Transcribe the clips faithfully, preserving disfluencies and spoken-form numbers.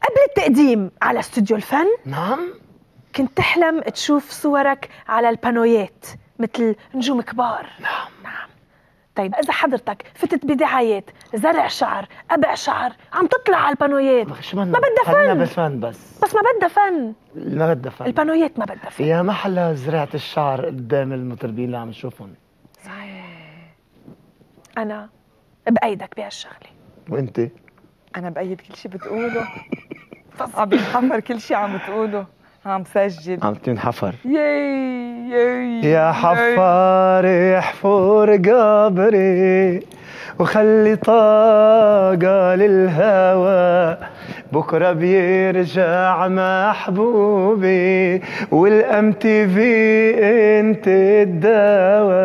قبل التقديم على استوديو الفن نعم كنت تحلم تشوف صورك على البانويات مثل نجوم كبار. نعم نعم. طيب إذا حضرتك فتت بدعايات زرع شعر قبع شعر عم تطلع على البانويات ما بدها خلينا فن. بالفن بس بس ما بدها فن. ما بدها فن. البانويات ما بدها فن. يا محلى زرعة الشعر قدام المطربين اللي عم نشوفهم. صحيح. أنا بأيدك بهالشغلة. وأنت؟ أنا بأيد كل شيء بتقوله. عم بينحفر كل شيء عم بتقوله. عم سجل. عم تنحفر. ياي ياي يا حفار احفر قبري وخلي طاقة للهوى، بكرة بيرجع محبوبي والام تي في انت الدواء.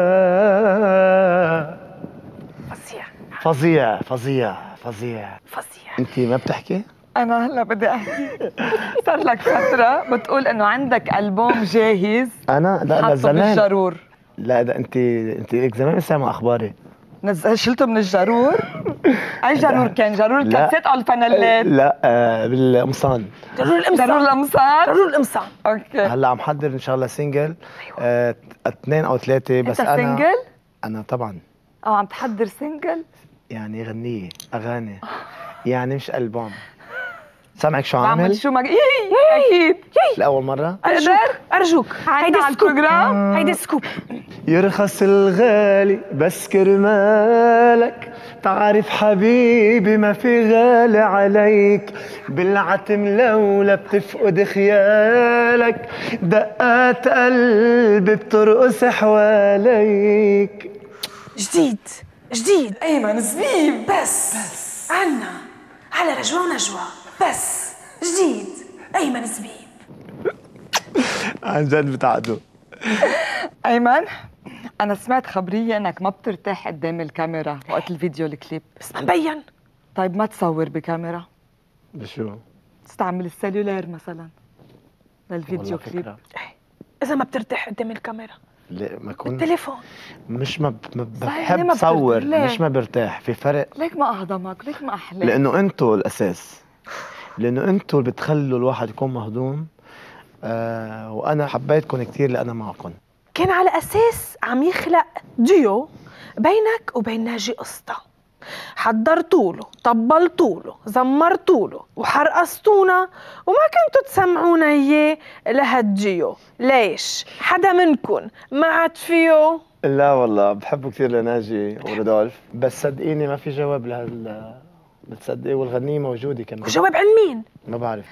فظيع فظيع فظيع فظيع فظيع. انت ما بتحكي؟ أنا هلا بدي أحكي. صار لك فترة بتقول إنه عندك ألبوم جاهز. أنا لا لا زمان. بالجرور. لا ده أنت أنت لك زمان سامع أخباري. نزل شلته من الجرور؟ أي جرور كان؟ جرور الكاسيت أو الفانيلات؟ لا آه بالقمصان. جرور القمصان. جرور القمصان؟ جرور القمصان. أوكي. هلا عم حضر إن شاء الله سينجل. آه اثنين أو ثلاثة بس. أنت أنا سينجل؟ أنا طبعا. أه عم تحضر سينجل؟ يعني غنية أغاني يعني مش ألبوم. سامعك شو عامل؟ عامل؟ شو مك... يي أكيد يي لأول مرة؟ أرجوك أرجوك هيدي على البروجرام؟ هيدي سكوب. يرخص الغالي بس كرمالك، تعرف حبيبي ما في غالي عليك، بالعتم لولا بتفقد خيالك، دقات قلبي بترقص حواليك. جديد جديد أيمن زبيب. بس بس عنا على رجوة ونجوى. بس جديد أيمن زبيب. عن جد بتعدوا. أيمن أنا سمعت خبرية إنك ما بترتاح قدام الكاميرا وقت الفيديو الكليب. بس ما مبين. طيب ما تصور بكاميرا؟ بشو؟ تستعمل السلولار مثلا للفيديو كليب. إذا ما بترتاح قدام الكاميرا لا ما كون التليفون. مش ما, ب... ما صحيح، ليه بحب ما صور، بترتاح؟ مش ما برتاح، في فرق. ليك ما أهضمك، ليك ما أحلاك. لأنه أنتوا الأساس، لأنه أنتوا اللي بتخلوا الواحد يكون مهضوم. آه وأنا حبيتكم كتير لأنا معكم. كان على أساس عم يخلق ديو بينك وبين ناجي قسطا، حضرتوله، طبلتوله، زمرتوله وحرقصتونا وما كنتوا تسمعونا إياه لهالديو. ليش؟ حدا منكن ما عاد فيه؟ لا والله بحبه كثير لناجي ورودولف، بس صدقيني ما في جواب لهال. بتصدقي والغنية موجودة كمان. وجواب عن مين؟ ما بعرف.